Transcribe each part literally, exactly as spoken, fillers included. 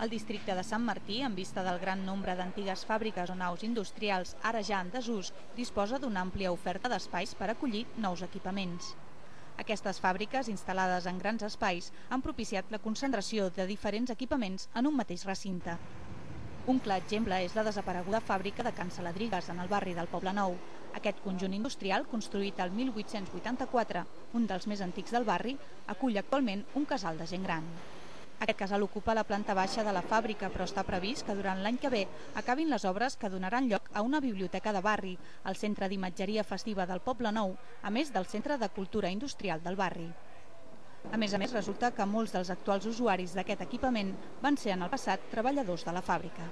El districte de Sant Martí, en vista del gran nombre d'antigues fàbriques o naus industrials ara ja en desús, disposa d'una àmplia oferta d'espais per acollir nous equipaments. Aquestes fàbriques, instal·lades en grans espais, han propiciat la concentració de diferents equipaments en un mateix recinte. Un clar exemple és la desapareguda fàbrica de Can Saladrigues, en el barri del Poblenou. Aquest conjunt industrial, construït el mil vuit-cents vuitanta-quatre, un dels més antics del barri, acull actualment un casal de gent gran. Aquest casal ocupa la planta baixa de la fàbrica, però està previst que durant l'any que ve acabin les obres que donaran lloc a una biblioteca de barri, el Centre d'Imatgeria Festiva del Poblenou, a més del Centre de Cultura Industrial del barri. A més a més, resulta que molts dels actuals usuaris d'aquest equipament van ser en el passat treballadors de la fàbrica.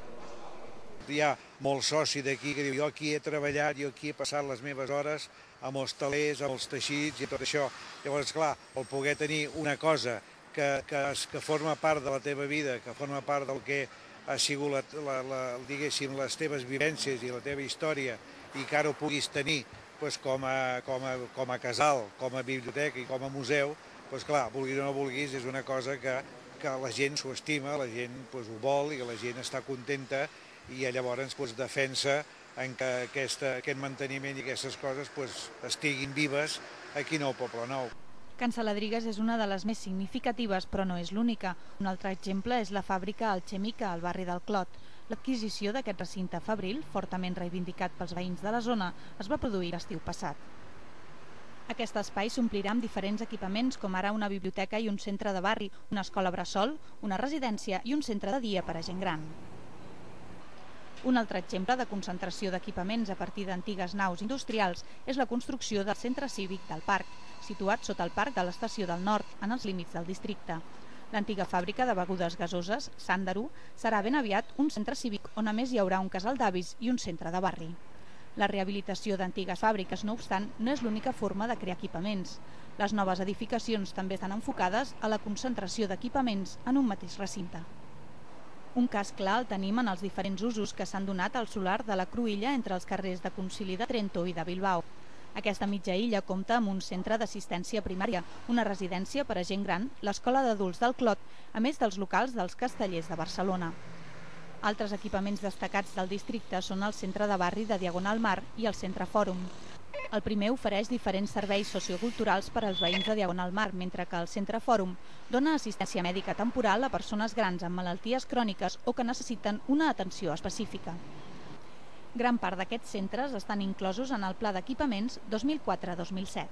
Hi ha molts socis d'aquí que diu jo aquí he treballat, jo aquí he passat les meves hores amb els telers, amb els teixits i tot això. Llavors, clar, el poder tenir una cosa que, que, que forma part de la teva vida, que forma part del que ha sigut la, la, la, diguéssim, les teves vivències i la teva història i que ara ho puguis tenir doncs, com, a, com, a, com a casal, com a biblioteca i com a museu, doncs, clar, vulguis o no vulguis, és una cosa que, que la gent s'ho estima, la gent doncs, ho vol i la gent està contenta i llavors doncs, defensa en que aquesta, aquest manteniment i aquestes coses doncs, estiguin vives aquí al Poblenou. Can Saladrigues és una de les més significatives, però no és l'única. Un altre exemple és la fàbrica Alchemica, al barri del Clot. L'adquisició d'aquest recinte fabril, fortament reivindicat pels veïns de la zona, es va produir l'estiu passat. Aquest espai s'omplirà amb diferents equipaments, com ara una biblioteca i un centre de barri, una escola bressol, una residència i un centre de dia per a gent gran. Un altre exemple de concentració d'equipaments a partir d'antigues naus industrials és la construcció del centre cívic del parc, situat sota el parc de l'Estació del Nord, en els límits del districte. L'antiga fàbrica de begudes gasoses, Sàndaro, serà ben aviat un centre cívic on a més hi haurà un casal d'avis i un centre de barri. La rehabilitació d'antigues fàbriques, no obstant, no és l'única forma de crear equipaments. Les noves edificacions també estan enfocades a la concentració d'equipaments en un mateix recinte. Un cas clar el tenim en els diferents usos que s'han donat al solar de la Cruïlla entre els carrers de Concili de Trento i de Bilbao. Aquesta mitja illa compta amb un centre d'assistència primària, una residència per a gent gran, l'escola d'adults del Clot, a més dels locals dels Castellers de Barcelona. Altres equipaments destacats del districte són el centre de barri de Diagonal Mar i el centre Fòrum. El primer ofereix diferents serveis socioculturals per als veïns de Diagonal Mar, mentre que el centre Fòrum dona assistència mèdica temporal a persones grans amb malalties cròniques o que necessiten una atenció específica. Gran part d'aquests centres estan inclosos en el Pla d'Equipaments dos mil quatre dos mil set.